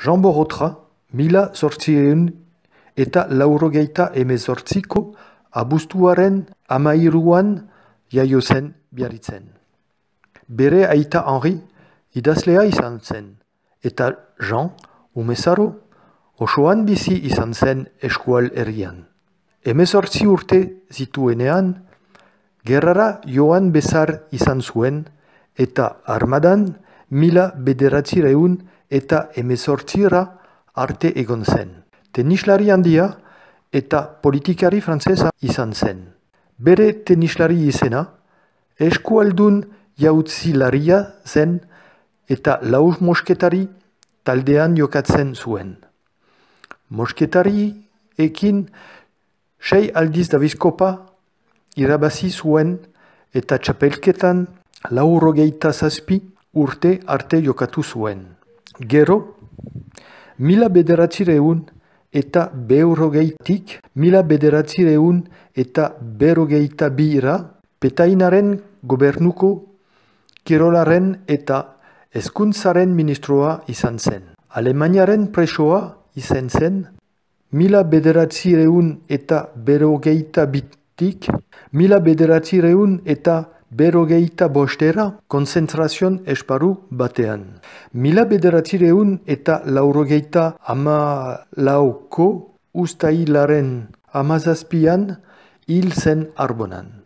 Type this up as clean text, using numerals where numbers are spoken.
Jean Borotra, 1898ko abuztuaren 13an jaio zen Biarritzen. Bere aita Henri idazlea izan zen, eta Jean, umezaro, osoan bizi izan zen eskual herrian. 18 urte zituenean, gerrara joan bezar izan zuen, eta armadan 1918 arte egon zen. Tenislari handia eta politikari frantsesa izan zen. Bere tenislari izena, eskualdun jautzilaria zen eta laus mosketari taldean jokatzen zuen. Mosketari ekin 6 aldiz Daviskopa irabazi zuen eta txapelketan 97 urte arte jokatu zuen. Gero, 1900 eta 1902 Petainaren gobernuko kirolaren eta hezkuntzaren ministroa izan zen. Alemaniaren presoa izan zen 1902tik 1905 konzentrazion esparru batean. 1984ko uztailaren 17an hil zen Arbonan.